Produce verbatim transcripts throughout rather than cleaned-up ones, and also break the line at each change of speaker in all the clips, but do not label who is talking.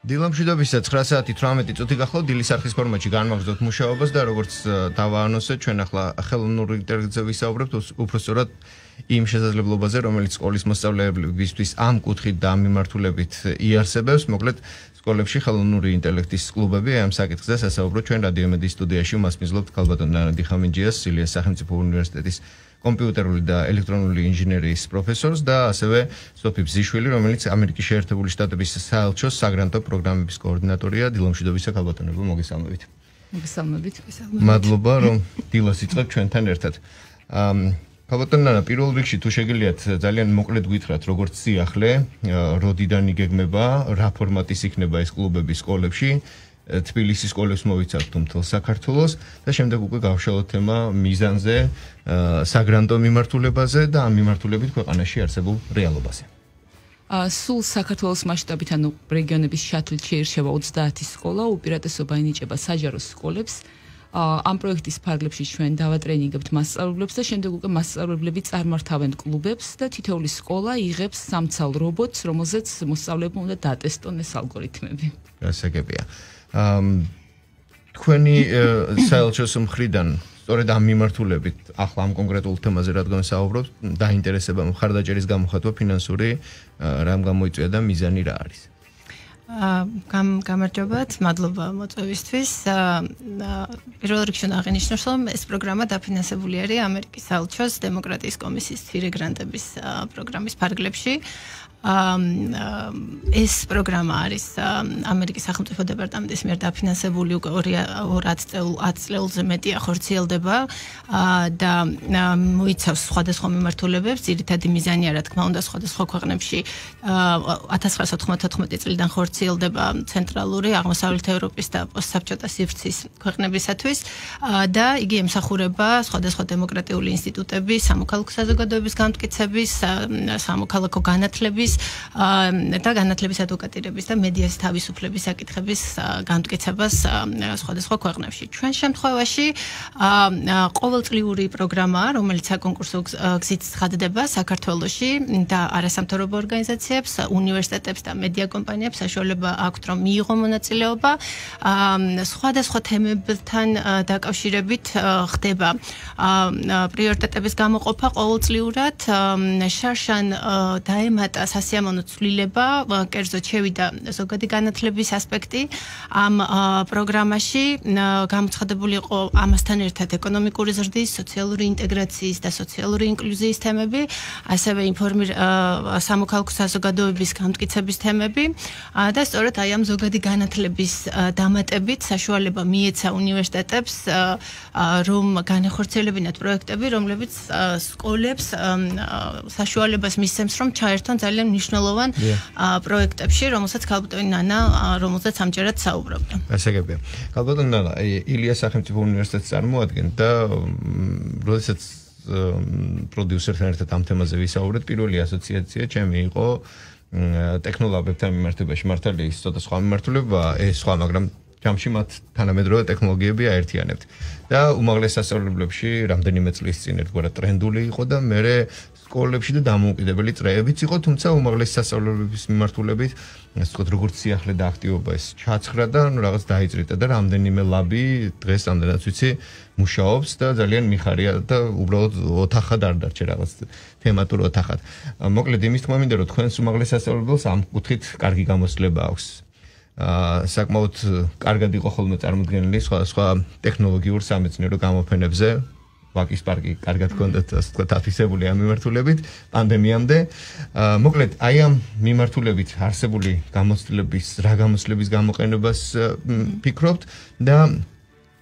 დილამშვიდობისა ცხრა საათი თვრამეტი წუთი გახლავთ დილის არხის ფორმატში განმაგრძოთ მუშაობას და როგორც დავაანონსეთ ჩვენ ახლა ხელოვნური ინტელექტზე ვისაუბრებთ უпростоრად იმ შესაძლებლობაზე რომელიც სკოლის მოსწავლეებისთვის ამ კუთხით და ამ მიმართულებით იარსებებს მოკლედ სკოლებში ხელოვნური ინტელექტის კლუბები ამ საკითხზე სასაუბროთ ჩვენ რადიო მედიის სტუდიაში მასმიზლობთ ქალბატონ ნანდი ხამინჯიას სილიას სახელმწიფო უნივერსიტეტის კომპიუტერული და ელექტრონული ინჟინერიის პროფესორს და ასევე სოფი ბზიშვილი, რომელიც ამერიკის შეერთებული შტატების საელჩოს საგრანტო პროგრამების კოორდინატორია. დილამშვიდობისა ქალბატონებო, მოგესალმებით.
მოგესალმებით.
მადლობა, რომ დილას იწყებთ ჩვენთან ერთად. ქალბატონ ნანა, პირველ რიგში თუ შეგიძლიათ ძალიან მოკლედ გითხრათ, როგორც სიახლე, როდიდან იგეგმება, რა ფორმატის იქნება ეს კლუბები სკოლებში. თბილისის სკოლებს მოვიცავთ მთელ საქართველოს და შემდეგ უკვე გავშალოთ თემა მიზანზე, საგრანტო მიმართულებაზე და ამ მიმართულებით ქვეყანაში არსებულ რეალობაზე.
სულ საქართველოს მასშტაბით, ანუ რეგიონების შატლით შეირჩევა ოცდაათი სკოლა, უპირატესობა ენიჭება საჯარო სკოლებს. ამ პროექტის ფარგლებში ჩვენ დავატრენინგებთ მასწავლებლებს და შემდეგ უკვე მასწავლებლები წარმართავენ კლუბებს და თითოეული სკოლა იღებს სამცალ რობოტს, რომელზეც მოსწავლეებმა უნდა დაატესტონ ეს ალგორითმები.
გასაგებია. თქვენი საელჩოს მხრიდან სწორედ ამ მიმართულებით ახლა ამ კონკრეტულ თემაზე რადგან საუბრობთ, დაინტერესება მხარდაჭერის გამოხატვა ფინანსური რამ გამოიწვია და მიზანი რა არის?
გამარჯობათ, მადლობა მოწვევისთვის. პირველ რიგში აღინიშნოს, რომ ეს პროგრამა დაფინანსებული არის ამერიკის საელჩოს დემოკრატიის კომისიის მცირე გრანტების პროგრამის ფარგლებში. ეს პროგრამა არის ამერიკის სახელმწიფო დეპარტამენტის მიერ დაფინანსებული უკვე ათ წელზე მეტია ხორციელდება და მოიცავს სხვადასხვა მიმართულებებს. ძირითადი მიზანია, რა თქმა უნდა, სხვადასხვა ქვეყნებში ათას ცხრაასა თხმოცდათოთხმეტი წლიდან ხორციელდება ცენტრალური, აღმოსავლეთ ევროპის და პოსტსაბჭოთა სივრცის ქვეყნებისათვის და იგი ემსახურება სხვადასხვა დემოკრატიული ინსტიტუტების, სამოქალაქო საზოგადოების განმტკიცების, სამოქალაქო განათლების და განათლების ადვოკატირების და მედიას თავისუფლების საკითხების განმტკიცებას სხვადასხვა ქვეყნებში. ჩვენ შემთხვევაში ყოველწლიური პროგრამაა, რომელიც საკონკურსო გზით ცხადდება საქართველოში და არასამთავრობო ორგანიზაციებს, უნივერსიტეტებს და მედია კომპანიებს საშუალება აქვთ, რომ მიიღონ მონაწილეობა. სხვადასხვა თემებთან დაკავშირებით ხდება პრიორიტეტების გამოყოფა ყოველწლიურად. შარშან დაემატა სასიამოვნო ცვლილება, კერძოდ შევიდა ზოგადი განათლების ასპექტი ამ პროგრამაში. გამოცხადებული იყო ამასთან ერთად ეკონომიკური ზრდის, სოციალური ინტეგრაციის და სოციალური ინკლუზიის თემები, ასევე სამოქალაქო საზოგადოების განმტკიცების თემები და სწორედ აი ამ ზოგადი განათლების დამატებით საშუალება მიეცა უნივერსიტეტებს, რომ განეხორციელებინათ პროექტები, რომლებიც სკოლებს საშუალებას მისცემს, რომ ჩაერთონ ძალიან მნიშვნელოვან პროექტებში, რომელსაც ქალბატონი ნანა, რომელსაც ამჯერად საუბრობდა.
გასაგებია. ქალბატონი ნანა, ილიას სახელმწიფო უნივერსიტეტს წარმოადგენთ და როდესაც პროდიუსერთან ერთად ამ თემაზე ვისაუბრეთ, პირველი ასოციაცია ჩემი იყო ტექნოლოგიებთან მიმართებაში. მართალია ის ცოტა სხვა მიმართულებაა, ეს სხვა, მაგრამ ჯამში მათ თანამედროვე ტექნოლოგიები აერთიანებთ. და უმაღლეს სასწავლებლებში რამდენიმე წლის წინ ერთგვარად ტრენდული იყო და მერე სკოლებში და დამოუკიდებელი წრეებიც იყო, თუმცა უმაღლეს სასწავლებლების მიმართულებით, ასე ვთქვათ, როგორც სიახლე და აქტივობა ეს ჩაცხრა და ნუ რაღაც დაიძრიტა და რამდენიმე ლაბი დღეს ამდენად ვიცი მუშაობს და ძალიან მიხარია და უბრალოდ ოთახად არ დარჩა რაღაც თემატურ ოთახად. მოკლედ იმის თქმა მინდა, რომ თქვენს უმაღლეს სასწავლებელს ამ კუთხით კარგი გამოცდილება აქვს. საკმაოდ კარგად იყო ხოლმე წარმოდგენილი სხვადასხვა ტექნოლოგიურ სამეცნიერო გამოფენებზე. ვაკის პარკი კარგად ჰქონდათ, ასე ვთქვათ, აფიქსებული ამ მიმართულებით პანდემიამდე. მოკლედ, აი ამ მიმართულებით არსებული გამოცდილების, რა გამოცდილების გამოყენებას ფიქრობთ და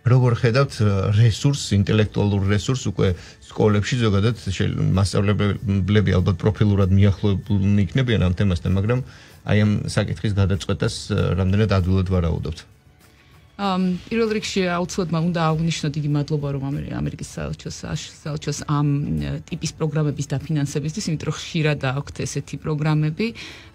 როგორ ხედავთ რესურს, ინტელექტუალურ რესურს უკვე სკოლებში ზოგადად მასწავლებლები ალბათ პროფილურად მიახლოებულნი იქნებიან ამ თემასთან, მაგრამ აი ამ საკითხის გადაწყვეტას რამდენად ადვილად ვარაუდობთ.
პირველ რიგში აუცილებლად უნდა აღვნიშნოთ იგი მადლობა რომ ამერიკის საელჩოს საელჩოს ამ ტიპის პროგრამების დაფინანსებისთვის, იმიტომ რომ ხშირად აქვთ ესეთი პროგრამები,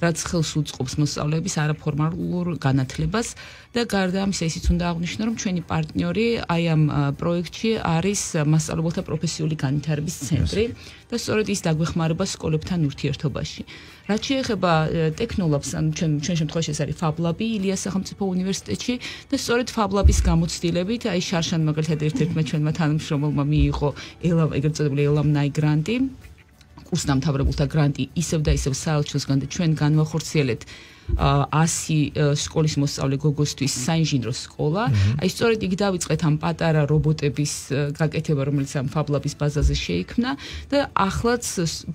რაც ხელს უწყობს მოსწავლეების არაფორმალურ განათლებას და გარდა ამისა ისიც უნდა აღვნიშნო რომ ჩვენი პარტნიორი აი ამ პროექტში არის მასწავლებელთა პროფესიული განვითარების ცენტრი და სწორედ ის დაგვეხმარება სკოლებთან ურთიერთობაში. რაც შეეხება ტექნოლაბს, ან ჩვენ ჩვენ შემთხვევაში ეს არის FabLab-ი ილიას სახელმწიფო უნივერსიტეტში და სწორედ FabLab-ის გამოცდილებით, აი შარშან მაგალითად ერთ-ერთმა ჩვენმა თანამშრომელმა მიიღო ელამ ეგრეთ წოდებული ელამნაი გრანტი, კურსდამთავრებულთა გრანტი ისევ და ისევ საელჩოსგან და ჩვენ განვახორციელეთ ასი სკოლის მოსწავლე გოგოსთვის საინჟინრო სკოლა. აი სწორედ იქ დავიწყეთ ამ პატარა რობოტების გაკეთება, რომელიც ამ FabLab-ის ბაზაზე შეიქმნა და ახლაც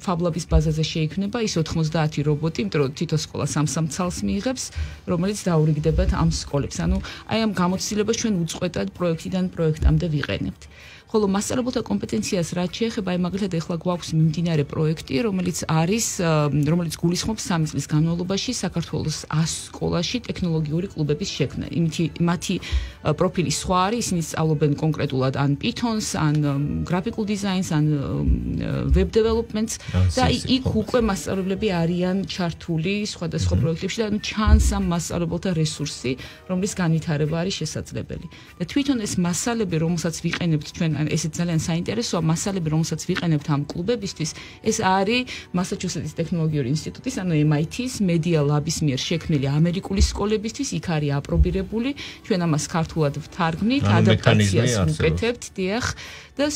FabLab-ის ბაზაზე შეიქმნება ის ოთხმოცდაათი რობოტი, იმიტომ რომ თითო სკოლა სამ-სამ ცალს მიიღებს, რომელიც დაურიგდებათ ამ სკოლებს. ანუ აი ამ გამოცდილებას ჩვენ უწყვეტად პროექტიდან პროექტამდე ვიყენებთ. ხოლო მასწავლებელთა კომპეტენციას რაც შეეხება, აი მაგალითად ეხლა გვაქვს მიმდინარე პროექტი, რომელიც არის, რომელიც გულისხმობს სამი წლის განმავლობაში საქართველოს ას სკოლაში ტექნოლოგიური კლუბების შექმნა. იმითი მათი პროფილი სხვა არის, ისინი სწავლობენ კონკრეტულად ან Python-ს, ან graphical design-ს, ან web development-ს და იქ უკვე მასწავლებლები არიან ჩართული სხვადასხვა პროექტებში და ჩანს ამ მასწავლებელთა რესურსი, რომლის განვითარება არის შესაძლებელი. და თვითონ ეს მასალები, რომელსაც ვიყენებთ ჩვენ ესეც ძალიან საინტერესოა მასალები, რომელსაც ვიყენებთ ამ კლუბებისთვის, ეს არის მასაჩუსეტის ტექნოლოგიური ინსტიტუტის, ანუ M I T-ის Media Lab-ის მიერ შექმნილი ამერიკული სკოლებისთვის, იქ არის აპრობირებული, ჩვენ ამას ქართულად ვთარგმნით, ადაპტაციას ვუკეთებთ, დიახ. და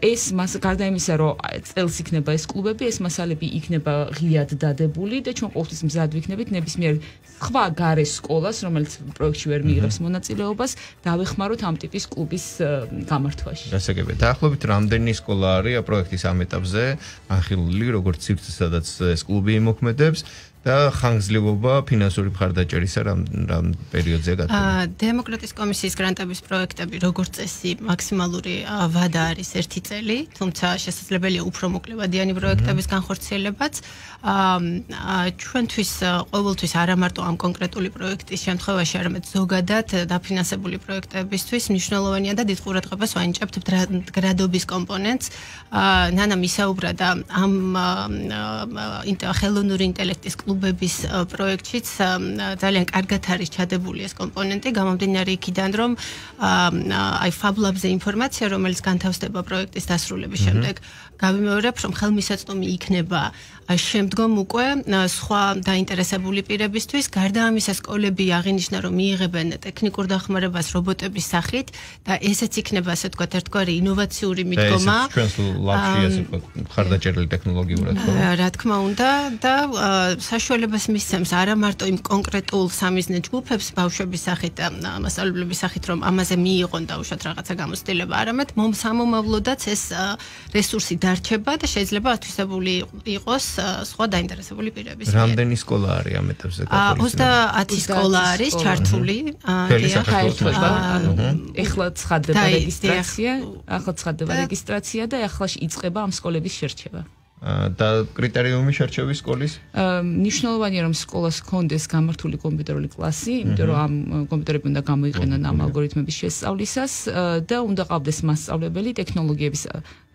ეს მას გარდა იმისა, რომ წელს იქნება ეს კლუბები, ეს მასალები იქნება ღიად დადებული და ჩვენ ყოველთვის მზად ვიქნებით ნებისმიერ სხვა გარე სკოლას, რომელიც პროექტში ვერ მიიღებს მონაწილეობას, დავეხმაროთ ამ ტიპის კლუბის გამართვაში.
გასაგებია. დაახლოებით რამდენი სკოლა არის პროექტის ამ ეტაპზე ახილული, როგორც სივრცე, სადაც ეს კლუბი იმოქმედებს და ხანგრძლივობა ფინანსური მხარდაჭერისა რამ რამ პერიოდზე გათვლილი.
დემოკრატიის კომისიის გრანტების პროექტები როგორც წესი მაქსიმალური ვადა არის ერთი წელი, თუმცა შესაძლებელია უფრო მოკლევადიანი პროექტების განხორციელებაც. ჩვენთვის ყოველთვის არა მარტო ამ კონკრეტული პროექტის შემთხვევაში, არამედ ზოგადად დაფინანსებული პროექტებისთვის მნიშვნელოვანია და დიდ ყურადღებას ვანიჭებთ გრადობის კომპონენტს. ნანამ ისაუბრა და ამ ხელოვნური ინტელექტის კლუბების პროექტშიც ძალიან კარგად არის ჩადებული ეს კომპონენტი, გამომდინარე იქიდან, რომ აი FabLab-ზე ინფორმაცია, რომელიც განთავსდება პროექტის დასრულების შემდეგ, გავიმეორებ, რომ ხელმისაწვდომი იქნება შემდგომ უკვე სხვა დაინტერესებული პირებისთვის. გარდა ამისა, სკოლები აღინიშნა, რომ მიიღებენ ტექნიკურ დახმარებას რობოტების სახით და ესეც იქნება, ასე ვთქვათ, ერთგვარი ინოვაციური მიდგომა.
და ესეც ჩვენს ლაბში, ასე ვთქვათ, მხარდაჭერილი ტექნოლოგიურად, ხო?
რა თქმა უნდა და საშუალებას მისცემს არა მარტო იმ კონკრეტულ სამიზნე ჯგუფებს ბავშვების სახით და მასწავლებლების სახით, რომ ამაზე მიიღონ და უშოთ რაღაცა გამოცდილება, არამედ მომსამომავლოდაც ეს რესურსი დარჩება და შეიძლება ათვისებული იყოს სხვა დაინტერესებული პირების მიერ.
რამდენი სკოლა არის ამ ეტაპზე გათვლილი?
ოცდაათი სკოლა არის ჩართული.
ეხლა ცხადდება რეგისტრაცია, ახლა ცხადდება რეგისტრაცია და ახლა იწყება ამ სკოლების შერჩევა.
და კრიტერიუმი შერჩევის სკოლის?
მნიშვნელოვანია რომ სკოლას ჰქონდეს გამართული კომპიუტერული კლასი, იმიტომ რომ ამ კომპიუტერები უნდა გამოიყენონ ამ ალგორითმების შესწავლისას და უნდა ყავდეს მასწავლებელი ტექნოლოგიების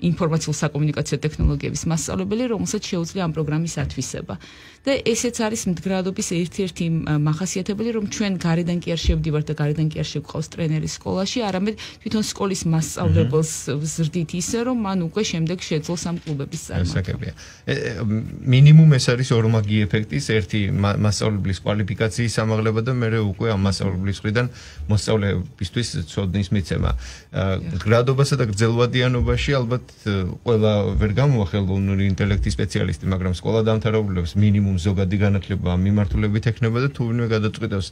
ინფორმაციულ-საკომუნიკაციო ტექნოლოგიების მასწავლებელი, რომელსაც შეუძლია ამ პროგრამის ათვისება. და ესეც არის მდგრადობის ერთ-ერთი მახასიათებელი, რომ ჩვენ გარედან კი არ შევდივართ და გარედან კი არ შევყავს ტრენერი სკოლაში, არამედ თვითონ სკოლის მასწავლებელს ვზრდით ისე, რომ მან უკვე შემდეგ შეძლოს ამ კლუბების წარმატება.
მინიმუმ ეს არის ორმაგი ეფექტის ერთი მასწავლებლის კვალიფიკაციის ამაღლება და მეორე უკვე ამ მასწავლებლის მხრიდან მოსწავლეებისთვის ცოდნის მიცემა. მდგრადობასა და გრძელვადიანობაში ალბათ ყველა ვერ გამოვა ხელოვნური ინტელექტის სპეციალისტი, მაგრამ სკოლა დამთავრებულებს მინიმუმ ზოგადი განათლება ამ მიმართულებით ექნება და თუ ვინმე გადაწყვიტავს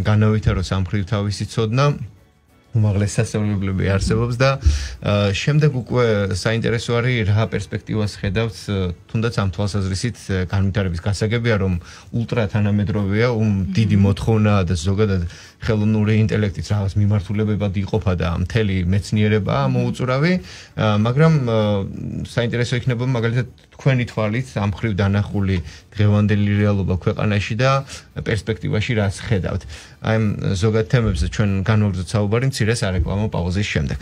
განავითაროს ამ მხრივ თავისი ცოდნა, უმაღლეს სასწავლებლები არსებობს და შემდეგ უკვე საინტერესო არის რა პერსპექტივას ხედავთ, თუნდაც ამ თვალსაზრისით განვითარების გასაგებია, რომ ულტრა თანამედროვეა, დიდი მოთხოვნაა და ზოგადად ხელოვნური ინტელექტით რაღაც მიმართულებებად იყოფა და მთელი მეცნიერებაა მოუწურავი, მაგრამ საინტერესო იქნება მაგალითად თქვენი თვალით ამ მხრივ დანახული დღევანდელი რეალობა ქვეყანაში და პერსპექტივაში რაც ხედავთ. აი ამ ზოგად თემებზე ჩვენ განვაგრძობთ საუბარი მცირე სარეკლამო პაუზის შემდეგ.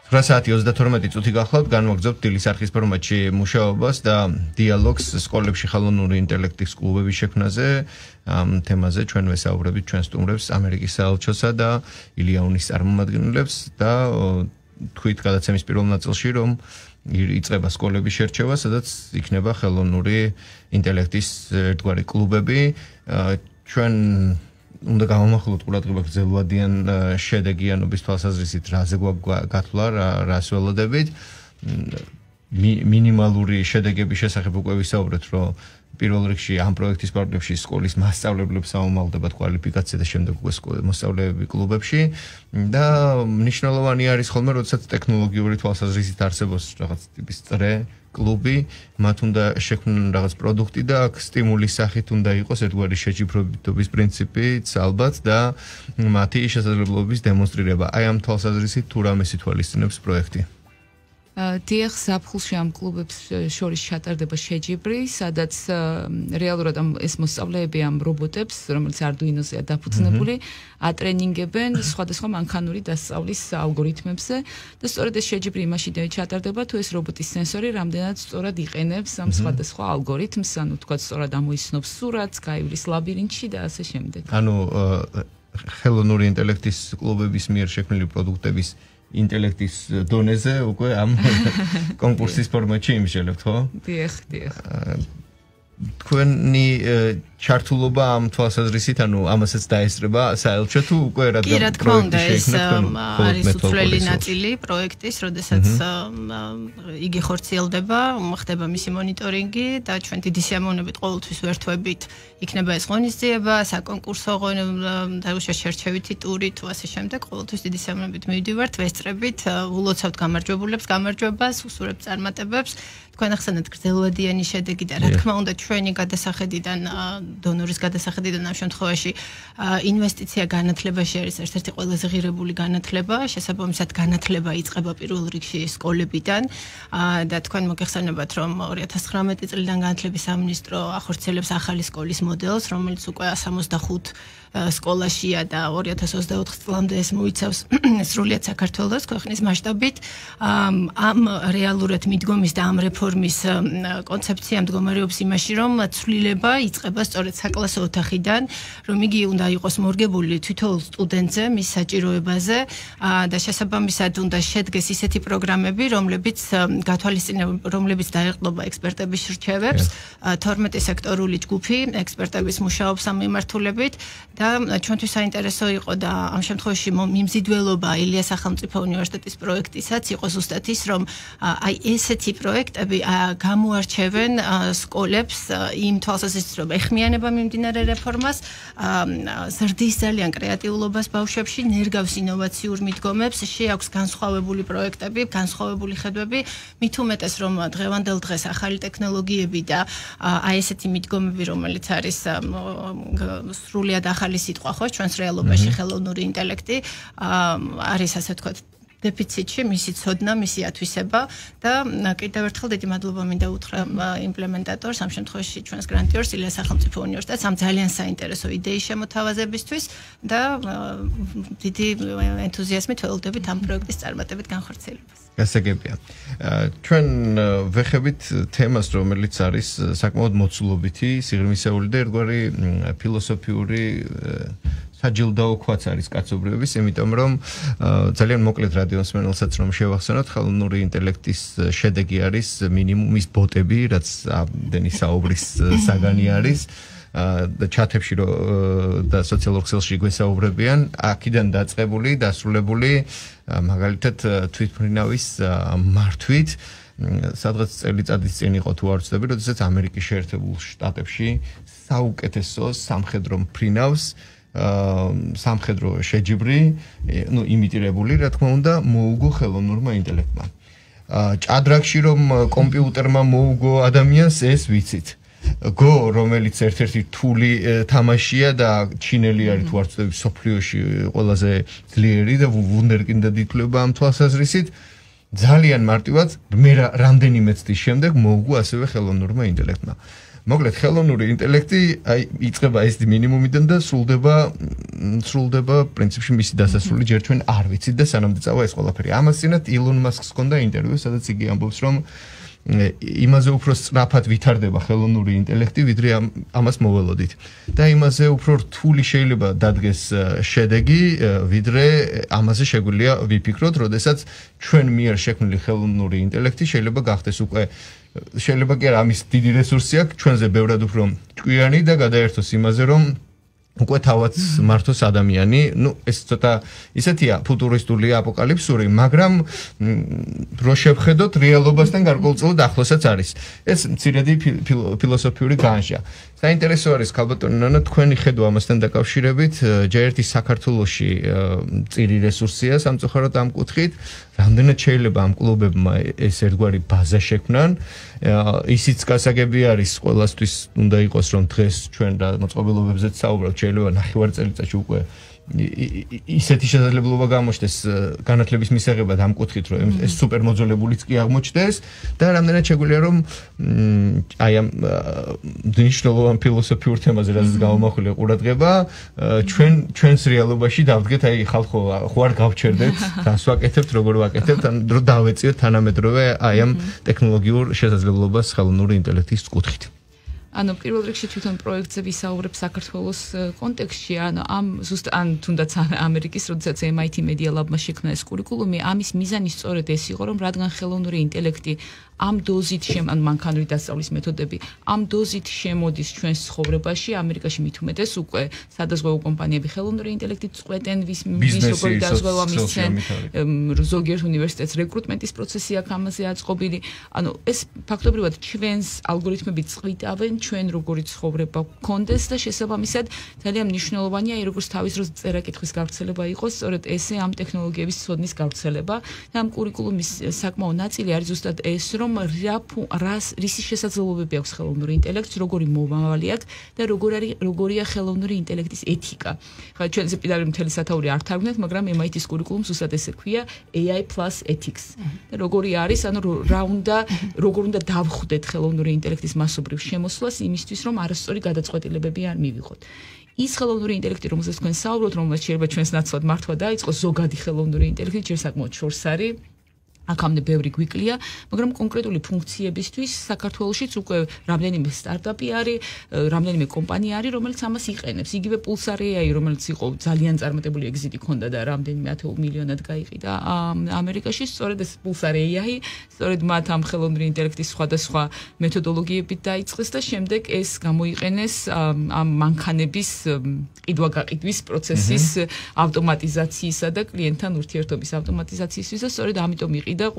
ორი საათი ოცდათორმეტი წუთი გახლავთ, განვაგრძობთ დილის არხის ფორმატში მუშაობას და დიალოგს სკოლებში ხელოვნური ინტელექტის კლუბების შექმნაზე. ამ თემაზე ჩვენ ვესაუბრებით ჩვენ სტუმრებს ამერიკის საელჩოსა და ილიაუნის წარმომადგენლებს და თქვით გადაცემის პირველ ნაწილში რომ იწყება სკოლების შერჩევა, სადაც იქნება ხელოვნური ინტელექტის ერთგვარი კლუბები. ჩვენ უნდა გამოვახილოთ ყურადღება გრძელვადიან შედეგიანობის თვალსაზრისით რაზე გვაქვს გათვლა, რას ველოდებით. მინიმალური შედეგების შესახებ უკვე ვისაუბრეთ, რომ პირველ რიგში ამ პროექტის პარალელში სკოლის მასწავლებლებს აუმალდებათ კვალიფიკაცია და შემდეგ უკვე მოსწავლეები კლუბებში და მნიშვნელოვანი არის ხოლმე, როდესაც ტექნოლოგიური თვალსაზრისით არსებობს რაღაც ტიპის წრე კლუბი, მათ უნდა შექმნან რაღაც პროდუქტი და აქ სტიმულის სახით უნდა იყოს ერთგვარი შეჯიბრებითობის პრინციპიც ალბათ და მათი შესაძლებლობების დემონსტრირება. აი ამ თვალსაზრისით თუ რამეს ითვალისწინებს პროექტი?
დიახ, ზაფხულში ამ კლუბებს შორის ჩატარდება შეჯიბრი, სადაც რეალურად ამ ეს მოსწავლეები ამ რობოტებს, რომელიც არდუინოზეა დაფუძნებული, ატრენინგებენ სხვადასხვა მანქანური დასწავლის ალგორითმებზე და სწორედ ეს შეჯიბრი იმაში ჩატარდება, თუ ეს რობოტის სენსორი რამდენად სწორად იყენებს ამ სხვადასხვა ალგორითმს, ანუ თქვა სწორად ამოიცნობს სურათს, გაივლის ლაბირინთში და ასე შემდეგ.
ანუ ხელოვნური ინტელექტის კლუბების მიერ შექმნილი პროდუქტების ინტელექტის დონეზე უკვე ამ კონკურსის ფორმატში იმსჯელებთ, ხო?
დიახ, დიახ.
თქვენი ჩართულობა ამ თვალსაზრისით, ანუ ამასაც დაესწრება საელჩო თუ უკვე რადგან
კი, რა თქმა უნდა, ეს არის უცვლელი ნაწილი პროექტის, როდესაც იგი ხორციელდება, ხდება მისი მონიტორინგი და ჩვენ დიდი სიამოვნებით ყოველთვის ვერთვებით იქნება ეს ღონისძიება, საკონკურსო და შერჩევითი ტური თუ ასე შემდეგ, ყოველთვის დიდი სიამოვნებით მივდივართ, ვესწრებით, ულოცავთ გამარჯვებულებს, გამარჯვებას, უსურებთ წარმატებებს. თქვენ ახსენეთ გრძელვადიანი შედეგი და რა თქმა უნდა ჩვენი გადასახედიდან დონორის გადასახედიდან ამ შემთხვევაში ინვესტიცია განათლებაში არის ერთ-ერთი ყველაზე ღირებული განათლება, შესაბამისად განათლება იწყება პირველ რიგში სკოლებიდან და თქვენ მოგეხსენებათ რომ ორი ათას ცხრამეტი წლიდან განათლების სამინისტრო ახორციელებს ახალი სკოლის მოდელს, რომელიც უკვე სამოცდახუთ სკოლაშია და ორი ათას ოცდაოთხ წლამდე ეს მოიცავს სრულიად საქართველოს ქვეყნის მასშტაბით. ამ რეალურად მიდგომის და ამ რეფორმის კონცეფცია მდგომარეობს იმაში, რომ ცვლილება იწყება სწორედ საკლასო ოთახიდან, რომ იგი უნდა იყოს მორგებული თითოეულ სტუდენტზე, მის საჭიროებაზე და შესაბამისად უნდა შედგეს ისეთი პროგრამები, რომლებიც გათვალისწინებენ, რომლებიც დაეყრდნობა ექსპერტების რჩევებს, თორმეტი სექტორული ჯგუფი ექსპერტების მუშაობს ამ მიმართულებით და ჩვენთვის საინტერესო იყო და ამ შემთხვევაში მიმზიდველობა ილიას სახელმწიფო უნივერსიტეტის პროექტისაც იყო ზუსტად ის, რომ აი ესეთი პროექტები გამოარჩევენ სკოლებს იმ თვალსაზრისით, რომ ეხმიანება მიმდინარე რეფორმას, ზრდის ძალიან კრეატიულობას ბავშვებში, ნერგავს ინოვაციურ მიდგომებს, შეაქვს განსხვავებული პროექტები, განსხვავებული ხედვები, მით უმეტეს რომ დღევანდელ დღეს ახალი ტექნოლოგიები და აი ესეთი მიდგომები, რომელიც არის სრულიად ახალი სიტყვა ხო ჩვენს რეალობაში ხელოვნური ინტელექტი არის ასე ვთქვათ დეფიციტში, მისი ცოდნა, მისი ათვისება და კიდევ ერთხელ დიდი მადლობა მინდა უთხრა იმპლემენტატორს, ამ შემთხვევაში ჩვენს გრანტიორს ილიას სახელმწიფო უნივერსიტეტს ამ ძალიან საინტერესო იდეის შემოთავაზებისთვის და დიდი ენთუზიაზმით ველოდებით ამ პროექტის წარმატებით განხორციელებას.
გასაგებია. ჩვენ ვეხებით თემას, რომელიც არის საკმაოდ მოცულობითი, სიღრმისეული და ერთგვარი ფილოსოფიური საჯილდაოქვაც არის კაცობრიობის, იმიტომ რომ ძალიან მოკლედ რადიოსმენელსაც რომ შევახსენოთ, ხელოვნური ინტელექტის შედეგი არის მინიმუმის ბოტები, რაც ამდენი საუბრის საგანი არის და ჩათებში და სოციალურ ქსელში გვესაუბრებიან, აქედან დაწყებული, დასრულებული მაგალითად თვითმფრინავის მართვით, სადღაც წელიწადის წინ იყო თუ არ ვცდები, როდესაც ამერიკის შეერთებულ შტატებში საუკეთესო სამხედრო მფრინავს სამხედრო შეჯიბრი, ну, იმიტირებული, რა თქმა უნდა, მოუგო ხელოვნურმა ინტელექტმა. ჭადრაკში რომ კომპიუტერმა მოუგო ადამიანს, ეს ვიცით. გო რომელიც ერთ-ერთი რთული თამაშია და ჩინელი არის თუ არ ვწდები სოფლიოში ყველაზე ძლიერი და ვუნდერკინდად ითვლება ამ თვალსაზრისით ძალიან მარტივად მე რამდენიმე წლის შემდეგ მოუგო ასევე ხელოვნურმა ინტელექტმა. მოკლედ ხელოვნური ინტელექტი აი იწყება ეს მინიმუმიდან და სრულდება სრულდება პრინციპში მისი დასასრული ჯერ ჩვენ არ ვიცით და სანამ წავა ეს ყველაფერი. ამას წინათ ილონ მასკს ჰქონდა ინტერვიუ, სადაც იგი ამბობს რომ იმაზე უფრო სწრაფად ვითარდება ხელოვნური ინტელექტი, ვიდრე ამას მოველოდით. და იმაზე უფრო რთული შეიძლება დადგეს შედეგი, ვიდრე ამაზე შეგვიძლია ვიფიქროთ, როდესაც ჩვენ მიერ შექმნილი ხელოვნური ინტელექტი შეიძლება გახდეს უკვე შეიძლება კი არა ამის დიდი რესურსი აქვს, ჩვენზე ბევრად უფრო ჭკვიანი და გადაერთოს იმაზე, რომ უკვე თავად მართოს ადამიანი, ну, ეს ცოტა ისეთია ფუტურისტული აპოკალიფსური, მაგრამ რო შევხედოთ რეალობასთან გარკვეულწილად ახლოსაც არის. ეს მცირედი ფილოსოფიური განშა. საინტერესო არის ქალბატონო ნანა თქვენი ხედვა ამასთან დაკავშირებით, ჯერ ერთი საქართველოში წირი რესურსია სამწუხაროდ ამ კუთხით, რამდენად შეიძლება ამ კლუბებმა ეს ერთგვარი ბაზა შექმნან, ისიც გასაგები არის ყველასთვის უნდა იყოს რომ დღეს ჩვენ და მოწყობილობებზეც საუბრობთ, შეიძლება ნახევარ წელიწადში უკვე ისეთი შესაძლებლობა გამოჩნდეს განათლების მისაღებად ამ კუთხით, რომ ეს სუპერ მოძველებულიც კი აღმოჩნდეს და რამდენად შეგვიძლია რომ აი ამ მნიშვნელოვან ფილოსოფიურ თემაზე რაც გამომახულია ყურადღება, ჩვენ ჩვენს რეალობაში დავდგეთ, აი ხალხო ხო არ გავჩერდეთ, რას ვაკეთებთ, როგორ ვაკეთებთ, რომ დავეწიოთ თანამედროვე აი ამ ტექნოლოგიურ შესაძლებლობას ხელოვნური ინტელექტის კუთხით. ანუ პირველ რიგში თვითონ პროექტზე ვისაუბრებ საქართველოს კონტექსტში, ანუ ამ ზუსტ ან თუნდაც ამერიკის, როდესაც M I T Media Lab-მა შექმნა ეს კურიკულუმი, ამის მიზანი სწორედ ეს იყო, რომ რადგან ხელოვნური ინტელექტი ამ დოზით შემ ან მანქანური დასწავლის მეთოდები ამ დოზით შემოდის ჩვენს ცხოვრებაში, ამერიკაში მით უმეტეს უკვე სადაზღვევო კომპანიები ხელოვნური ინტელექტით წყვეტენ, ვის ვის როგორი დაზღვევა მისცენ, ზოგიერთ უნივერსიტეტს რეკრუტმენტის პროცესი აქვს ამაზე აწყობილი. ანუ ეს ფაქტობრივად ჩვენს ალგორითმები წყვიტავენ ჩვენ როგორი ცხოვრება გქონდეს და შესაბამისად ძალიან მნიშვნელოვანია აი როგორც თავის დროს წერა-კითხვის გავრცელება იყოს, სწორედ ესე ამ ტექნოლოგიების ცოდნის გავრცელება და ამ კურიკულუმის საკმაო ნაწილი არის ზუსტად ეს, რომ რას რის შესაძლებლობები აქვს ხელოვნური ინტელექტს, როგორი მომავალი აქვს და როგორ არის როგორია ხელოვნური ინტელექტის ეთიკა. ხა ჩვენზე პირდაპირ მთელი სათაური არ თარგმნეთ, მაგრამ M I T-ის კურიკულუმს ზუსტად ესე ქვია A I plus ethics. და როგორი არის, ანუ რა უნდა როგორ უნდა დავხვდეთ ხელოვნური ინტელექტის მასობრივ შემოსვლას იმისთვის, რომ არასწორი გადაწყვეტილებები არ მივიღოთ. ის ხელოვნური ინტელექტი, რომელზეც თქვენ საუბრობთ, რომელსაც შეიძლება ჩვენს ნაცვლად მართვა დაიწყოს ზოგადი ხელოვნური ინტელექტი, ჯერ საკმაოდ შორს არის. აქამდე ბევრი გვიკლია, მაგრამ კონკრეტული ფუნქციებისთვის საქართველოშიც უკვე რამდენიმე სტარტაპი არის, რამდენიმე კომპანია არის, რომელიც ამას იყენებს. იგივე Pulsar A I, რომელიც იყო ძალიან წარმატებული ეგზიტი ჰქონდა და რამდენიმე ათეულ მილიონად გაიყიდა ამერიკაში, სწორედ ეს Pulsar A I, სწორედ მათ ამ ხელოვნური ინტელექტის სხვადასხვა მეთოდოლოგიებით დაიწყეს და შემდეგ ეს გამოიყენეს ამ მანქანების ყიდვა-გაყიდვის პროცესის ავტომატიზაციისა და კლიენტთან ურთიერთობის ავტომატიზაციისთვის და სწორედ ამიტომ იყიდა და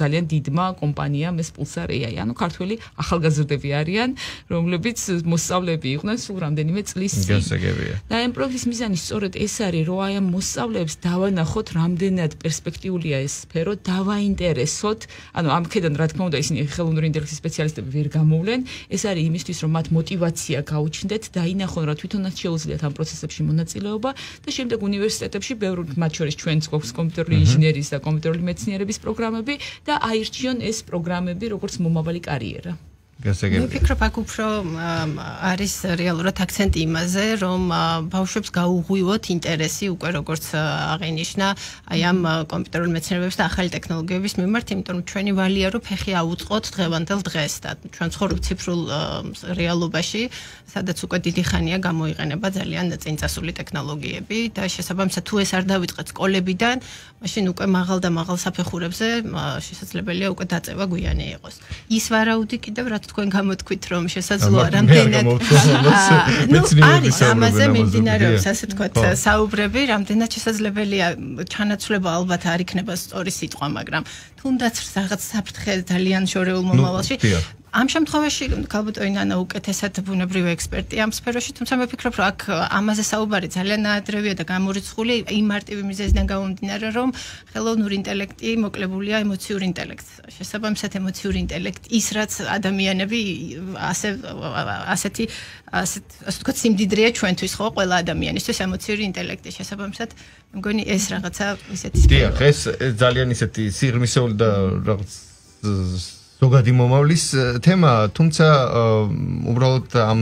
ძალიან დიდმა კომპანიამ ეს Pulsar A I, ანუ ქართველი ახალგაზრდები არიან, რომლებიც მოსწავლეები იყვნენ სულ რამდენიმე წლის წინ. გასაგებია. და ამ პროექტის მიზანი სწორედ ეს არის, რომ აი ამ მოსწავლეებს დავანახოთ, რამდენად პერსპექტიულია ეს სფერო, დავაინტერესოთ, ანუ ამ ქედან რა თქმა უნდა ისინი ხელოვნური ინტელექტის სპეციალისტები ვერ გამოვლენ, ეს არის იმისთვის, რომ მათ мотиваცია გაუჩნდეთ, დაინახონ, რა თვითონაც შეუძლიათ ამ პროცესებში მონაწილეობა და შემდეგ უნივერსიტეტებში ბევრ მათ შორის ჩვენს გვაქვს კომპიუტერული ინჟინერიის და კომპიუტერული მეცნიერების პროგრამები და აირჩიონ ეს პროგრამები როგორც მომავალი კარიერა.
მე ვფიქრობ, აქ უფრო არის რეალურად აქცენტი იმაზე, რომ ბავშვებს გაუღვივოთ ინტერესი უკვე როგორც აღინიშნა აი ამ კომპიუტერული მეცნიერებების და ახალი ტექნოლოგიების მიმართ, იმიტომ რომ ჩვენი ვალია რომ ფეხი აუწყოთ დღევანდელ დღეს და ჩვენ ცხოვრობთ ციფრულ რეალობაში, სადაც უკვე დიდი ხანია გამოიყენება ძალიან წინწასული ტექნოლოგიები და შესაბამისად თუ ეს არ დავიწყეთ სკოლებიდან, მაშინ უკვე მაღალ და მაღალ საფეხურებზე შესაძლებელია უკვე დაწევა გვიანი იყოს. ის ვარაუდი კიდევ რა თქვენ გამოთქვით რომ შესაძლოა რამდენად ნუ არის ამაზე მიმდინარეობს ასე თქვათ საუბრები, რამდენად შესაძლებელია ჩანაცვლება ალბათ არ იქნება სწორი სიტყვა, მაგრამ თუნდაც რაღაც საფრთხე ძალიან შორეულ მომავალში ამ შემთხვევაში ქალბატონი უკეთესად ბუნებრივი ექსპერტი ამ სფეროში, თუმცა მე ვფიქრობ, რომ აქ ამაზე საუბარი ძალიან ნაადრევია და გამორიცხული იმ მარტივი მიზეზიდან გამომდინარე, რომ ხელოვნური ინტელექტი მოკლებულია ემოციურ ინტელექტს. შესაბამისად ემოციური ინტელექტი ის რაც ადამიანები ასე ასეთი ასეთ ასე ვთქვათ სიმდიდრეა ჩვენთვის ხო ყველა ადამიანისთვის ემოციური ინტელექტი შესაბამისად მგონი ეს რაღაცა ისეთი
დიახ ეს ძალიან ისეთი სიღრმისეული და რაღაც ზოგადი მომავლის თემა, თუმცა უბრალოდ ამ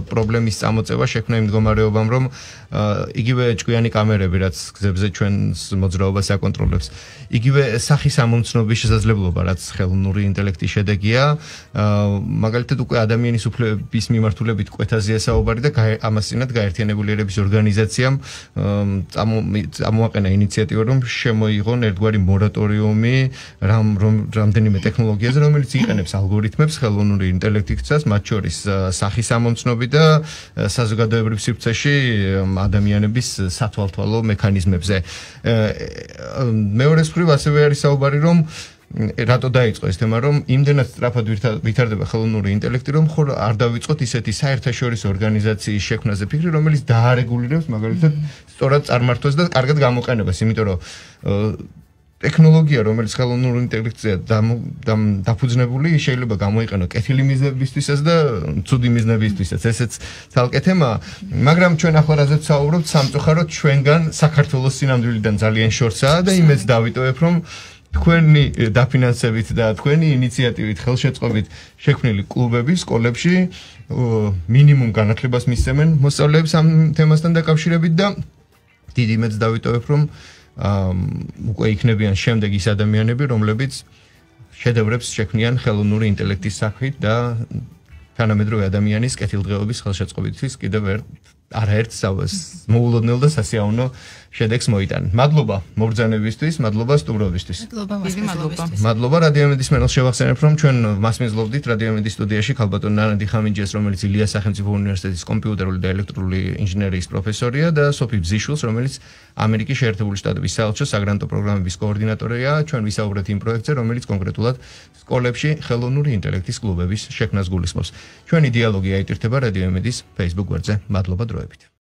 პრობლემის წამოწევა შექმნა იმ მდგომარეობამ, რომ იგივე ჭკვიანი კამერები, რაც გზებზე ჩვენს მოძრაობას აკონტროლებს, იგივე სახის ამომცნობის შესაძლებლობა, რაც ხელოვნური ინტელექტის შედეგია, მაგალითად უკვე ადამიანის უფლებების მიმართულებით კვეთაზეა საუბარი და ამასწინათ გაერთიანებული ერების ორგანიზაციამ წამოაყენა ინიციატივა, რომ შემოიღონ ერთგვარი მორატორიუმი რამდენიმე ტექნოლოგიაზე, რომელიც იყენებს ალგორითმებს ხელოვნური ინტელექტისას, მათ შორის სახის ამომცნობი და საზოგადოებრივ სივრცეში ადამიანების სათვალთვალო მექანიზმებზე. მეორე მხრივ ასევე არის საუბარი, რომ რატო დაიწყო ეს თემა, რომ იმდენად სწრაფად ვითარდება ხელოვნური ინტელექტი, რომ ხომ არ დავიწყოთ ისეთი საერთაშორისო ორგანიზაციის შექმნაზე ფიქრი, რომელიც დაარეგულირებს მაგალითად სწორად წარმართვას და კარგად გამოყენებას, იმიტომ რომ ტექნოლოგია, რომელიც ხელოვნურ ინტელექტზე დაფუძნებული, შეიძლება გამოიყენო კეთილი მიზნებისთვისაც და ცუდი მიზნებისთვისაც. ესეც ცალკე თემაა, მაგრამ ჩვენ ახლა რაზეც საუბრობთ, სამწუხაროდ ჩვენგან საქართველოს სინამდვილიდან ძალიან შორსაა და იმეც დავიტოვებ, რომ თქვენი დაფინანსებით და თქვენი ინიციატივით, ხელშეწყობით შექმნილი კლუბები სკოლებში მინიმუმ განათლებას მისცემენ მოსწავლეებს ამ თემასთან დაკავშირებით და დიდი იმეც დავიტოვებ, რომ უკვე იქნებიან შემდეგ ის ადამიანები, რომლებიც შედევრებს შექმნიან ხელოვნური ინტელექტის საქმით და თანამედროვე ადამიანის კეთილდღეობის ხელშეწყობისთვის კიდევ ერთ არაერთ მოულოდნელ და სასიაოვნო შედეგს მოიტანენ. მადლობა მობრძანებისთვის, მადლობა სტუმრობისთვის.
მადლობა.
მადლობა რადიომედის მენელს შევახსენებ, რომ ჩვენ მასმინძლობდით რადიომედის სტუდიაში ქალბატონ ნანდი ხამინჯეს, რომელიც ილიას სახელმწიფო უნივერსიტეტის კომპიუტერული და ელექტრული ინჟინერიის პროფესორია და სოფი ბზიშვილს, რომელიც ამერიკის შეერთებული შტატების საელჩოს საგრანტო პროგრამების კოორდინატორია. ჩვენ ვისაუბრეთ იმ პროექტზე, რომელიც კონკრეტულად სკოლებში ხელოვნური ინტელექტის კლუბების შექმნას გულისხმობს. ჩვენი დიალოგი აიტირთება რადიომედის Facebook გვერდზე. მადლობა დროებით.